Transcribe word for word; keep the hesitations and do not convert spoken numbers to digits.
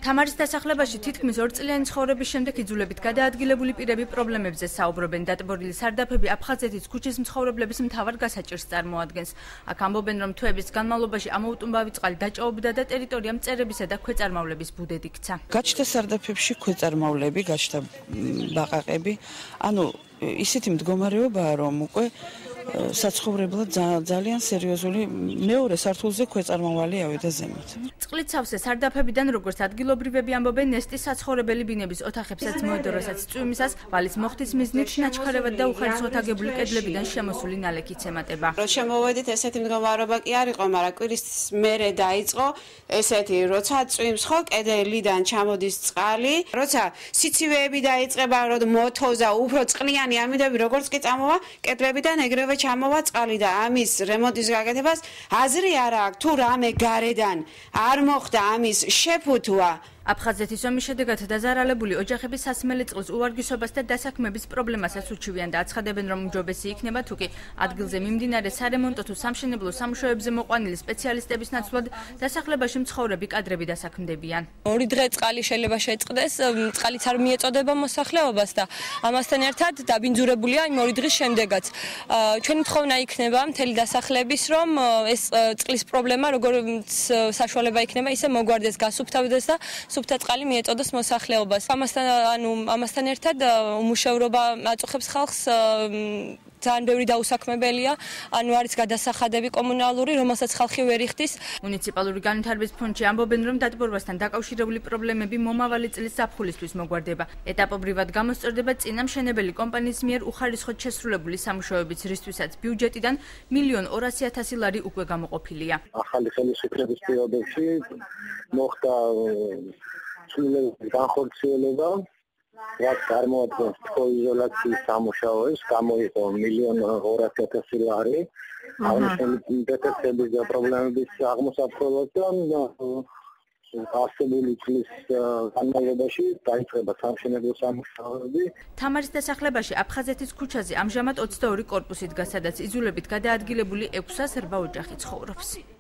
თამარის დასახლებაში თითქმის ორწლიანი ცხოვრების შემდეგ იძულებით გადაადგილებული პირები პრობლემებზე საუბრობენ. დატბორილი სარდაფები აფხაზეთის ქუჩის მცხოვრებლების მთავარ გასაჭირს წარმოადგენს. აქ ამბობენ, რომ თვეების განმავლობაში ამოუტუმბავი წყალი დაჭაობდა და ტერიტორია მწერებისა და ქვეწარმავლების ბუდედ იქცა. გაჩნდა სარდაფებში ქვეწარმავლები, გაჩნდა ბაყაყები. ანუ ისეთი მდგომარეობაა, რომ უკვე საცხოვრებლად ძალიან სერიოზული მეორე სართულზე ქვეწარმავალი ავიდა ზემოთ. წყლით სავსე სარდაფებიდან, როგორც ადგილობრივები ამბობენ, ნესტის საცხოვრებელი ბინების ოთახებსაც მოედო, რასაც წვიმისას ვალის მოხდის მიზნით ნაჩქარევად და უხარისხოდ აგებული კედლებიდან შემოსული ნალექიც ემატება. რო შემოვედით, ესეთი მდგომარეობა კი არ იყო, მაგრამ კვირის მერე დაიწყო ესეთი, როცა წვიმს ხო კედლიდან ჩამოდის წყალი, როცა სიცივეები დაიწყება, რომ მოთოზა, უფრო წყლიანი ამინდები, როგორც კი წამოვა კედლებიდან ეგრევე ჩამოვა წყალი და ამის რემონტის გაკეთებას აზრი არ აქვს, თუ რამე გარედან არ მოხდა ამის შეფუთვა. აფხაზეთის ომის შედეგად დაზარალებული ოჯახების სასმელი წყლის უვარგისობას და დასაქმების პრობლემასაც უჩივიან და აცხადებენ, რომ უმჯობესი იქნება თუკი ადგილზე მიმდინარე სარემონტო თუ სამშენებლო სამუშაოებზე მოყვანილი სპეციალისტების ნაცვლად დასახლებაში მცხოვრები კადრები დასაქმდებიან. ორი დღე წყალი შეიძლება შეწყდეს, წყალიც არ მიეწოდება მოსახლეობას და ამასთან ერთად დაბინძურებულია იმ ორი დღის შემდეგაც. ჩვენი თხოვნა იქნება მთელი დასახლების, რომ ეს წყლის პრობლემა როგორც საშუალება იქნება, ისე მოგვარდეს, გასუფთავდეს და სუფთა წყალი მიეწოდოს მოსახლეობას. ამასთან ანუ ამასთან ერთად უმუშევრობა აწუხებს ხალხს ძალიან ბევრი დაუსაქმებელია, ანუ არის გადასახადები კომუნალური, რომელსაც ხალხი ვერ იხდის. მუნიციპალური განვითარების ფონდში ამბობენ, რომ დატბორვასთან დაკავშირებული პრობლემები მომავალი წლის ზაფხულისთვის მოგვარდება. ეტაპობრივად გამოსწორდება წინამშენებელი კომპანიის მიერ უხარისხოდ შესრულებული სამუშაოების, რისთვისაც ბიუჯეტიდან მილიონ ორასი ათასი ლარი უკვე გამოყოფილია. ახალი ხელისუფლების პერიოდში მოხდა ცვლილებების განხორციელება, რაც წარმოადგენს თქოიზოლაციის სამუშაოებს, გამოიყო მილიონ ორასი ათასი ლარი. აღნიშნული დეტექტების და პრობლემების აღმოსაწყობად ასებული წლის განმავლობაში დაიწყება სამშენებლო სამუშაოები. თამარის დასახლებაში აფხაზეთის ქუჩაზე ამჟამად ოცდაორი კორპუსი დგას, სადაც იძულებით გადაადგილებული ექვსას რვა ოჯახი ცხოვრობს.